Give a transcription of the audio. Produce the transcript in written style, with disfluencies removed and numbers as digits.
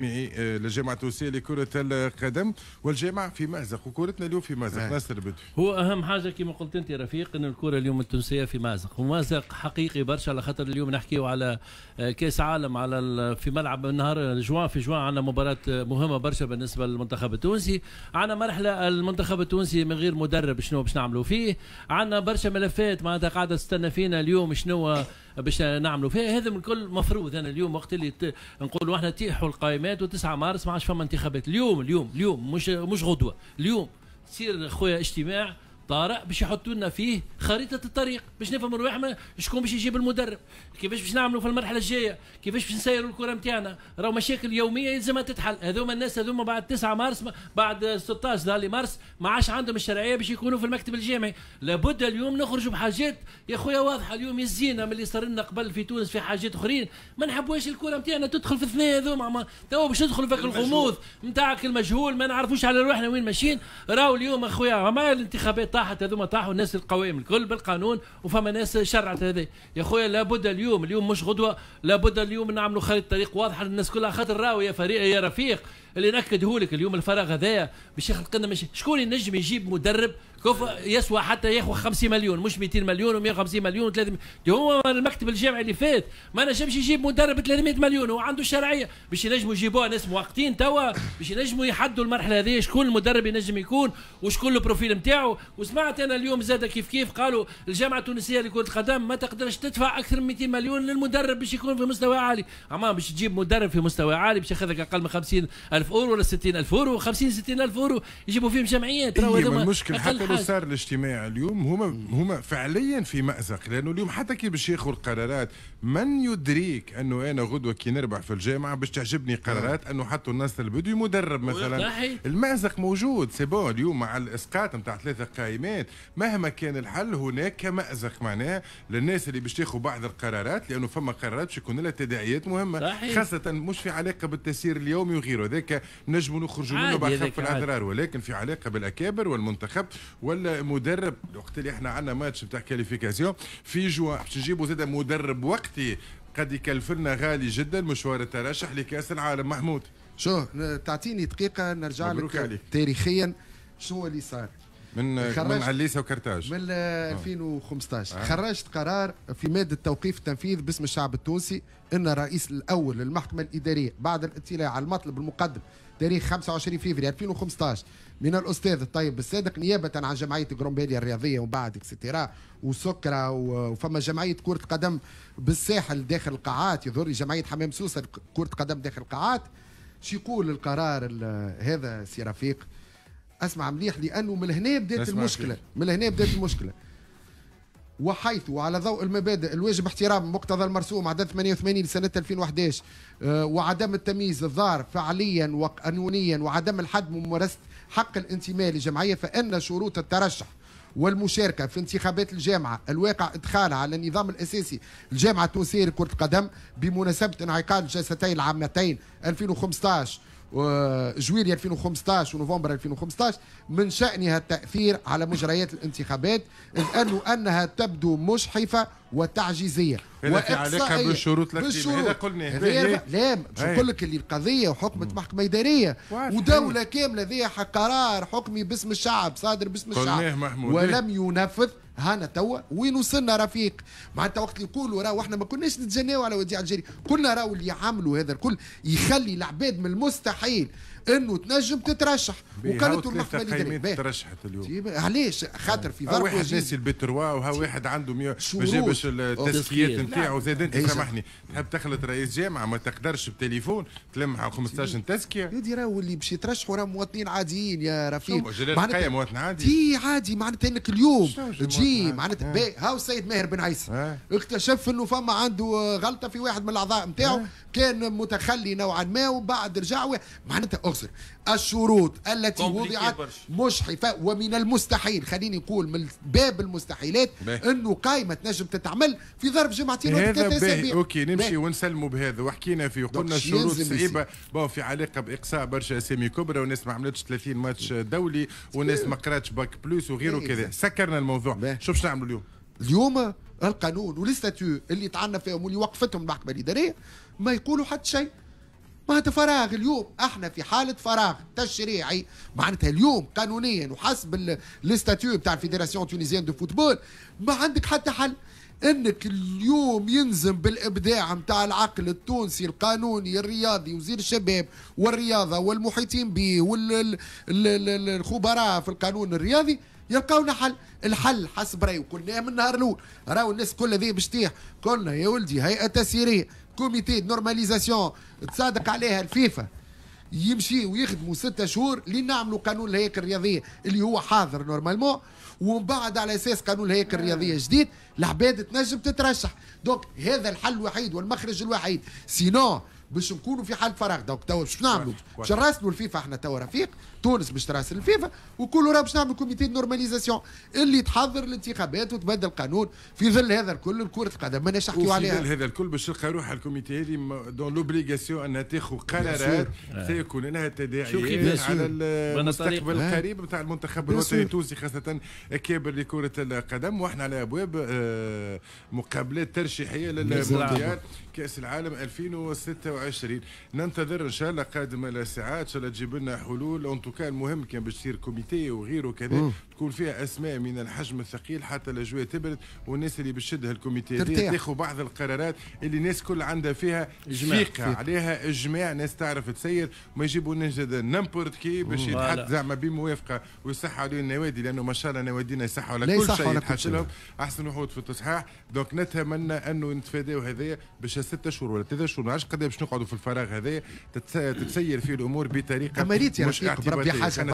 للجامعة التونسية لكرة القدم، والجامعة في مأزق وكرتنا اليوم في مأزق. ناصر البدوي، هو أهم حاجة كما قلت أنت رفيق أن الكرة اليوم التونسية في مأزق، ومأزق حقيقي برشا، على خاطر اليوم نحكيو على كأس عالم على في ملعب نهار جوان، في جوان عندنا مباراة مهمة برشا بالنسبة للمنتخب التونسي. عندنا مرحلة المنتخب التونسي من غير مدرب شنو باش نعملوا فيه، عندنا برشا ملفات معناتها قاعدة تستنى فينا اليوم شنو باش نعملوا فيها. هذا من كل مفروض أنا اليوم وقت اللي نقولوا احنا تيحوا القائمات و9 مارس ما عادش فما انتخابات. اليوم اليوم اليوم مش غدوه، اليوم تصير خويا اجتماع طارئ باش يحطوا لنا فيه خريطة الطريق باش نفهموا رواحنا شكون باش يجيب المدرب، كيفاش باش نعملوا في المرحلة الجاية، كيفاش باش نسيروا الكره نتاعنا. راهو مشاكل يومية يلزمها تتحل. هذوما الناس هذوما بعد 9 مارس، بعد 16 مارس ما عادش عندهم الشرعية باش يكونوا في المكتب الجامعي. لابد اليوم نخرجوا بحاجات يا خويا واضحة. اليوم يزينا من اللي صار لنا قبل في تونس في حاجات اخرين، ما نحبوش الكره نتاعنا تدخل في الثنية هذوما. توا باش ندخلوا في الغموض نتاعك المجهول، ما نعرفوش على روحنا وين ماشيين. راهو اليوم اخويا ما الانتخابات طاحت، هذوما طاحوا الناس القوائم الكل بالقانون، وفما ناس شرعت هذا يا خويا. لابد اليوم، اليوم مش غدوه، لابد اليوم نعملوا خريطة طريق واضحة للناس كلها. خاطر راهو يا فريق يا رفيق اللي ناكده لك اليوم الفراغ هذايا باش يخلق لنا شكون ينجم يجيب مدرب كيف يسوى حتى ياخذ 50 مليون مش 200 مليون و150 مليون و300. هو المكتب الجامعي اللي فات ما نجمش يجيب مدرب 300 مليون، هو عنده شرعية باش ينجموا يجيبوها ناس مؤقتين توا باش ينجموا يحدوا المرحلة هذه شكون المدرب ينجم يكون وشكون ال profil نتاعو. وسمعت انا اليوم زاد كيف كيف قالوا الجامعة التونسية لكرة القدم ما تقدرش تدفع اكثر من 200 مليون للمدرب باش يكون في مستوى عالي. اما باش تجيب مدرب في مستوى عالي باش ياخذ اقل من 50,000 اورو ولا 60,000 اورو، 50 60,000 اورو يجيبوا فيهم جمعيات. المشكل حتى لو صار الاجتماع اليوم هما فعليا في مأزق، لانه اليوم حتى كي باش ياخذوا القرارات من يدريك انه انا غدوه كي نربح في الجامعة باش تعجبني قرارات انه حطوا الناس البدوي مدرب مثلا. المأزق موجود c'est bon اليوم مع الاسقاط نتاع 3 قائمات مهما كان الحل هناك مأزق معناه للناس اللي باش تاخذ بعض القرارات، لانه فما قرارات باش يكون لها تداعيات مهمة. خاصة مش في علاقة بالتسيير اليومي وغيره، ذاك نجموا نخرجوا منه بأخف الاضرار، ولكن في علاقة بالاكابر والمنتخب والمدرب. وقت اللي احنا عندنا ماتش نتاع qualification في جوان باش نجيبوا زاد مدرب وقتي قد يكلفنا غالي جدا مشوار الترشح لكاس العالم. محمود شو تعطيني دقيقة نرجع لك تاريخيا شنو اللي صار من عليسه وكرتاج من 2015. خرجت قرار في مادة توقيف التنفيذ باسم الشعب التونسي ان الرئيس الاول للمحكمة الادارية بعد الاطلاع على المطلب المقدم تاريخ 25 فبراير 2015 من الاستاذ الطيب الصادق نيابة عن جمعية جرومبيليا الرياضية ومن بعد et cetera وسكره وفما جمعية كره قدم بالساحل داخل القاعات، يظهر جمعية حمام سوسة كره قدم داخل القاعات. شو يقول القرار هذا سي رفيق؟ اسمع مليح لانه من هنا بدات المشكلة، من هنا بدات المشكلة. وحيث وعلى ضوء المبادئ الواجب احترام مقتضى المرسوم عدد 88 لسنة 2011 وعدم التمييز الضار فعليا وقانونيا وعدم الحد من ممارسة حق الانتماء لجمعية، فإن شروط الترشح والمشاركة في انتخابات الجامعة الواقع إدخالها على النظام الأساسي الجامعة التونسية لكرة القدم بمناسبة انعقاد الجلستين العامتين 2015 جويلية 2015 ونوفمبر 2015 من شأنها التأثير على مجريات الانتخابات، إذ أنها تبدو مجحفة وتعجيزية. هذا في علاقة بالشروط الأكاديمية، هذا قلنا. لا باش نقول لك اللي القضية وحكمت محكمة إدارية ودولة كاملة ذي قرار حكمي باسم الشعب صادر باسم الشعب ولم ينفذ. هانا توا وين وصلنا رفيق؟ معناتها وقت اللي يقولوا راهو احنا ما كناش نتجناو على وديع الجري، قلنا راهو اللي عملوا هذا الكل يخلي العباد من المستحيل انه تنجم تترشح. وقالت المحكمة الادارية ترشحت اليوم علاش؟ خاطر في ظرف واحد ناسي البتروا وها واحد عنده ما جابش التزكيات نتاعو. زاد انت سامحني تحب تخلط رئيس جامعه ما تقدرش بتليفون تلمها 15 تزكيه. يا دي راهو اللي باش يترشحوا راهم مواطنين عاديين يا رفيق. معناتها مواطن عادي تي عادي، معناتها انك اليوم تجي معناتها هاو السيد ماهر بن عيسى اكتشف انه فما عنده غلطه في واحد من الاعضاء نتاعو كان متخلي نوعا ما وبعد رجع معناتها اغسر الشروط التي وضعت مجحفه ومن المستحيل، خليني نقول من باب المستحيلات انه قائمة تنجم تتعمل في ظرف جمعتين ولا 3 اسابيع. OK نمشي ونسلموا بهذا وحكينا فيه وقلنا الشروط صعيبة bon في علاقة باقصاء برشا اسامي كبرى وناس ما عملتش 30 ماتش دولي وناس ما قراتش bac plus وغيره كذا. سكرنا الموضوع. شوف شنو نعملوا اليوم. اليوم القانون وال statuts اللي طعنا فيهم واللي وقفتهم المحكمة الادارية ما يقولوا حتى شيء. معناتها فراغ. اليوم احنا في حاله فراغ تشريعي، معناتها اليوم قانونيا وحسب les statuts بتاع ال Fédération tunisienne de football ما عندك حتى حل. انك اليوم ينزم بالابداع نتاع العقل التونسي القانوني الرياضي، وزير الشباب والرياضة والمحيطين به والخبراء في القانون الرياضي يلقاونا حل. الحل حسب رايي، وقلناه من النهار الاول، راهو الناس كل ذي باش تطيح، قلنا يا ولدي هيئة تسييريه، comité normalisation تصادق عليها الفيفا، يمشي ويخدموا 6 شهور لين نعملوا قانون الهياكل الرياضية اللي هو حاضر normalement، ومن بعد على اساس قانون الهياكل الرياضية جديد العباد تنجم تترشح. donc هذا الحل الوحيد والمخرج الوحيد، sinon باش نكونوا في حال فراغ. donc توا باش نعملوا؟ باش نراسلوا الفيفا احنا توا رفيق، تونس باش تراسل الفيفا وكل راه باش نعملوا comité normalisation اللي تحضر الانتخابات وتبدل القانون. في ظل هذا الكل كرة القدم ما نحكيو عليها. في ظل هذا الكل باش تلقى روحها ال comité هذه dans l'obligation انها تاخذ قرارات سيكون لها تداعيات على المستقبل القريب نتاع المنتخب الوطني التونسي، خاصة اكابر لكرة القدم، واحنا على ابواب مقابلات ترشيحيه للمونديال كاس العالم 2026. ننتظر ان شاء الله قادم الساعات، ان شاء الله تجيب لنا حلول. en tout cas المهم كان باش تصير comité وغيره كذا تكون فيها اسماء من الحجم الثقيل حتى الاجواء تبرد، والناس اللي باش تشدها ال comité تاخذ بعض القرارات اللي الناس كل عندها فيها ثقة، عليها اجماع، ناس تعرف تسير، ما يجيبوا لنا n'importe qui باش يتحط زعما بموافقة ويصح عليه النوادي، لانه ما شاء الله نوادينا يصحوا على كل شيء يتحط لهم، احسن وحود في التصحيح. donc نتمنى انه نتفاداو هذايا باش 6 شهور ولا 3 شهور، ما عادش قد باش نقعدوا في الفراغ هذايا، تتسير فيه الامور بطريقة مش اعتباطيه. حاجة.